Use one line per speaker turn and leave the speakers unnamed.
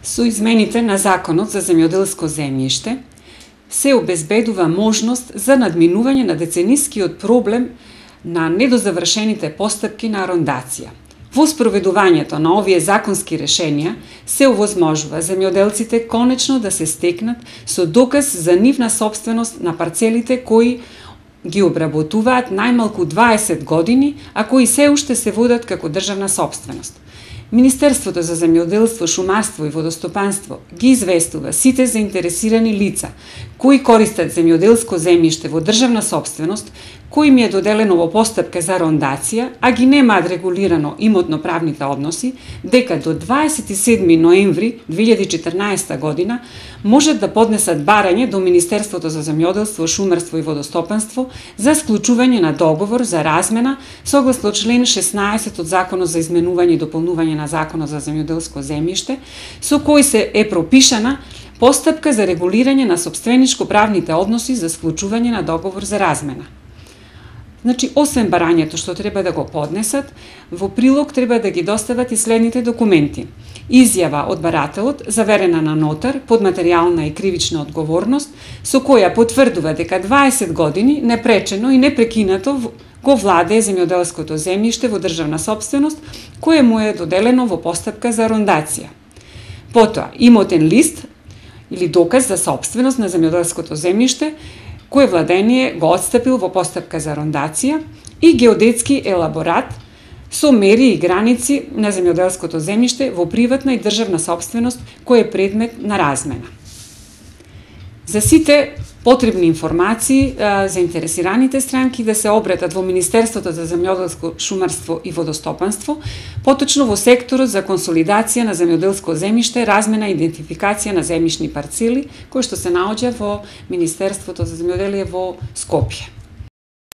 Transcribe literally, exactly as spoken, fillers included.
Со измените на Законот за земјоделско земјиште се обезбедува можност за надминување на деценискиот проблем на недозавршените постапки на арондација. Во спроведувањето на овие законски решенија се овозможува земјоделците конечно да се стекнат со доказ за нивна сопственост на парцелите кои ги обработуваат најмалку дваесет години, а кои се уште се водат како државна сопственост. Министерството за земјоделство, шумарство и водостопанство ги известува сите заинтересирани лица кои користат земјоделско земјиште во државна сопственост, кои им е доделено во постапка за арондација, а ги немаат регулирано имотно-правните односи, дека до дваесет и седми ноември две илјади и четрнаесета година можат да поднесат барање до Министерството за земјоделство, шумарство и водостопанство за склучување на договор за размена согласно член шеснаесет од Законот за изменување и дополнување на Законот за земјоделско земјиште, со кој се е пропишана постапка за регулирање на сопственичко-правните односи за склучување на договор за размена. Значи, освен барањето што треба да го поднесат, во прилог треба да ги достават и следните документи. Изјава од барателот, заверена на нотар, под материјална и кривична одговорност, со која потврдува дека дваесет години непречено и непрекинато го владее земјоделското земјиште во државна сопственост, кое му е доделено во постапка за арондација. Потоа, имотен лист или доказ за сопственост на земјоделското земјиште, кој владение го отстапил во постапка за арондација, и геодетски елаборат со мери и граници на земјоделското земјиште во приватна и државна сопственост кој е предмет на размена. За сите потребни информации, заинтересираните странки да се обратат во Министерството за земјоделско, шумарство и водостопанство, поточно во секторот за консолидација на земјоделско земјиште, размена и идентификација на земјишни парцели, кој што се наоѓа во Министерството за земјоделие во Скопје.